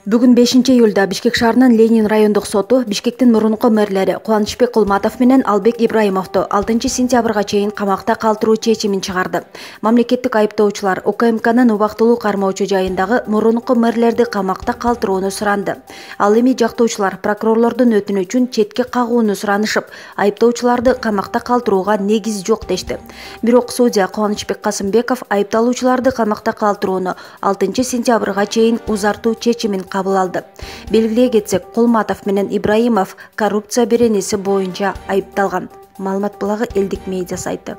Бүгүн 5-июлда Бишкек шаарынын Ленин райондук соту Бишкектин мурунку мэрлери Кубанычбек Кулматов менен Албек Ибраимовду 6-сентябрга чейин камакта калтыруу чечимин чыгарды. Мамлекеттик айыптоочулар УКМКнын убактылуу кармоочу жайындагы мурунку мэрлерди камакта калтырууну суранды. Ал эми жактоочулар прокурорлордун өтүнүчүн четке кагууну суранышып, айыптоочуларды камакта калтырууга негиз жок дешти. Бирок судья Кубанычбек Касымбеков айыпталуучуларды камакта калтырууну 6-сентябрга чейин узартуу чечимин кабыл алды. Белгилей кетсек, Кулматов менен Ибраимов коррупция беренеси боюнча айыпталган. Маалымат булагы элдик медиа сайты.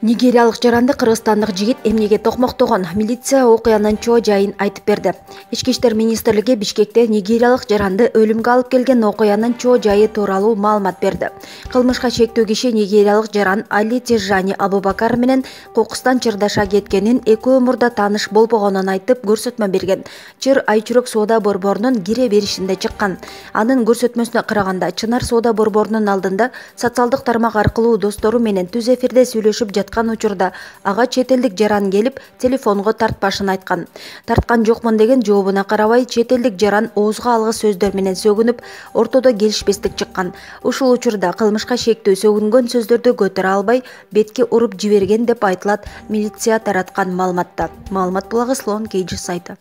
Нигериялык жаранды кыргызстандык жигит эмнеге токмоктогон? Милиция окуянын чоо жайын айтып берди. Ички иштер министрлиги Бишкекте нигериялык жаранды өлүмгө алып келген окуянын чоо жайы тууралуу маалымат берди. Кылмышка чектүү киши нигериялык жаран Али Тежани Абубакар менен кокустан чырдаша кеткенин, экөө мурда тааныш болбогонун айтып көрсөтмө берген. Чыр Айчүрөк соода борборунун кире беришинде чыккан. Анын көрсөтмөсүнө караганда, Чынар соода борборунун алдында социалдык тармак аркылуу достору менен түз эфирде сүйлөшүп учурда ага чет элдик жаран келип телефонго тартпашын айткан. Тарткан жокмун деген жообуна карабай, чет элдик жаран оозго алгыс сөздөр менен сөгүнүп, ортодо келишпестик чыккан. Ушул учурда кылмышка шектүү сөгүнгөн сөздөрдү көтөрө албай, бетке уруп жиберген деп айтылат милиция тараткан маалыматта. Маалымат булагы Слон Кейджи сайты.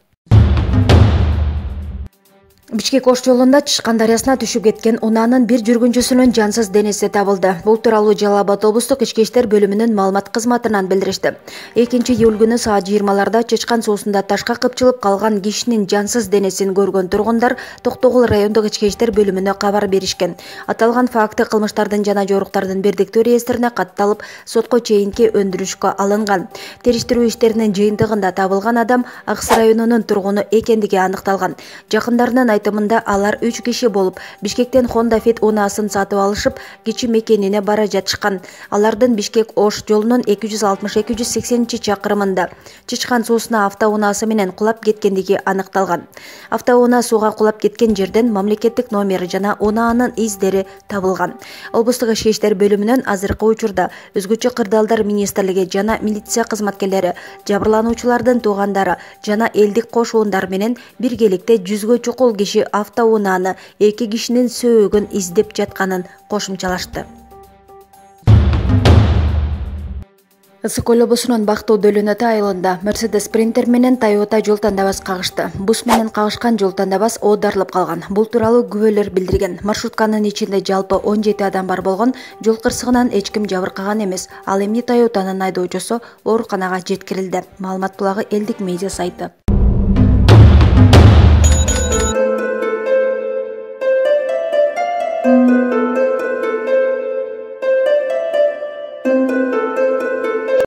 Бишкек Ош жолунда Чышкан дарыясына түшүп кеткен унаанын бир жүргүнчүсүнүн жансыз денеси табылды. Бул тууралуу Жалал Абад облустук ички иштер бөлүмүнүн маалымат кызматынан билдиришти. 2-июль күнү саат 20-ларда Чычкан суусунда ташка кыпчылып калган кишинин жансыз денесин көргөн тургундар Токтогул райондук ички иштер бөлүмүнө кабар беришкен. Аталган факты кылмыштардын жана жоруктардын бирдиктүү реестрине катталып, сотко чейинки өндүрүшкө алынган. Териштирүү иштеринин жыйынтыгында табылган адам Акс районунун тургуну экендиги аныкталган. Жакындарынын айтымында алар 3 киши болуп, Бишкектен Honda Fit унаасын сатып алышып, кичи мекенине бара жатышкан. Алардын Бишкек Ош жолунун 260-280 чакырымында Чычкан суусуна автоунаасы менен кулап кеткендиги аныкталган. Автоунаа сууга кулап кеткен жерден мамлекеттик номер жана унаанын издери табылган. Облустук ички иштер бөлүмүнүн азыркы учурда өзгөчө кырдаалдар министрлиги жана милиция кызматкерлери жабырлануучулардын туугандары жана элдик кошуундар менен биргеликте 100гө чукул киши автоунааны 2 кишинин сөөгүн издеп жатканын кошумчалашты. Ысык Көл облусунун Бактоо Дөлөнөтө айылында Mercedes Sprinter менен Toyota жол тандабас кагышты. Бус менен кагышкан жол тандабас оодарылып калган. Бул тууралуу күбөлөр билдирген. Маршрутканын ичинде жалпы 17 адам бар болгон. Жол кырсыгынан эч ким жабыркаган эмес. Ал эми Toyotанын айдоочусу ооруканага жеткирилди. Маалымат булагы элдик медиа сайты.